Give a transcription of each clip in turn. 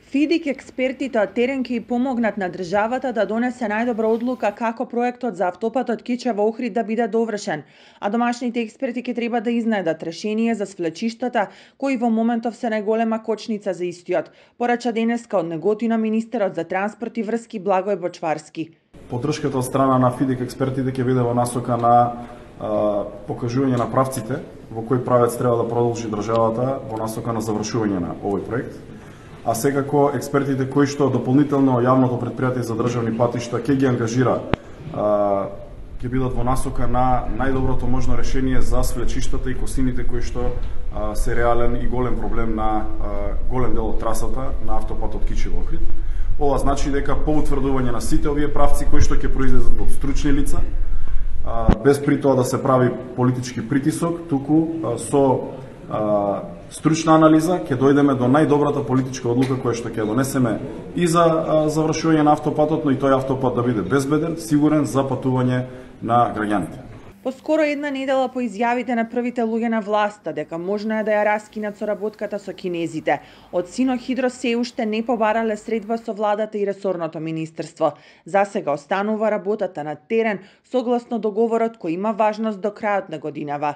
ФИДИК експертите од терен ќе помогнат на државата да донесе најдобра одлука како проектот за автопатот Кичево-Охрид да биде довршен, а домашните експерти ќе треба да изнајдат решение за свлечиштата кои во моментов се најголема кочница за истиот, порача денеска од Неготино министерот за транспорт и врски Благој Бочварски. Поддршката од страна на ФИДИК експертите ќе биде во насока на покажување на правците во кој правец треба да продолжи државата во насока на завршување на овој проект. А секако експертите кои што дополнително јавното претпријатие за државни патишта ќе ги ангажира, ќе бидат во насока на најдоброто можно решение за свлечиштата и косините кои што се реален и голем проблем на голем дел од трасата на автопатот Кичево-Охрид. Ова значи дека по утврдување на сите овие правци кои што ќе произлезат од стручни лица, без при тоа да се прави политички притисок, туку со стручна анализа ќе дојдеме до најдобрата политичка одлука која што ќе донесеме и за завршување на автопатот, но и тој автопат да биде безбеден, сигурен за патување на граѓаните. Поскоро една недела по изјавите на првите луѓе на власта дека можно е да ја раскинат соработката со кинезите, од Синохидро се уште не побарале средба со владата и ресорното министерство. Засега останува работата на терен согласно договорот кој има важност до крајот на годинава.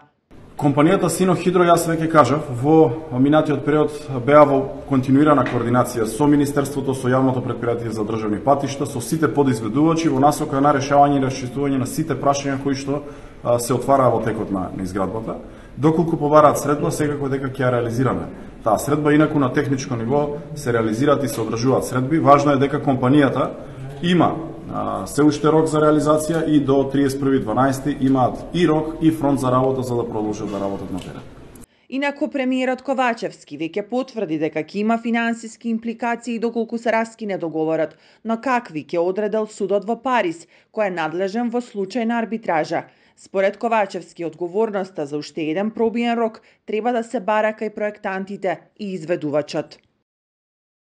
Компанијата Синохидро, јас веќе кажав, во минатиот период беа во континуирана координација со Министерството, со јавното претпријатие за државни патишта, со сите подизведувачи во насока на решавање и расчистување на сите прашања кои што се отвараа во текот на изградбата. Доколку побараат средба, секако дека ќе ја реализираме. Таа средба, инаку на техничко ниво се реализираат и се одржуваат средби. Важно е дека компанијата има се уште рок за реализација и до 31.12 имаат и рок и фронт за работа за да продолжат да работат на терен. Инаку премиерот Ковачевски веќе потврди дека ќе има финансиски импликации доколку се раскине договорот, но какви ќе одредел судот во Париз, кој е надлежен во случај на арбитража. Според Ковачевски, одговорноста за уште еден пробиен рок треба да се бара кај проектантите и изведувачот.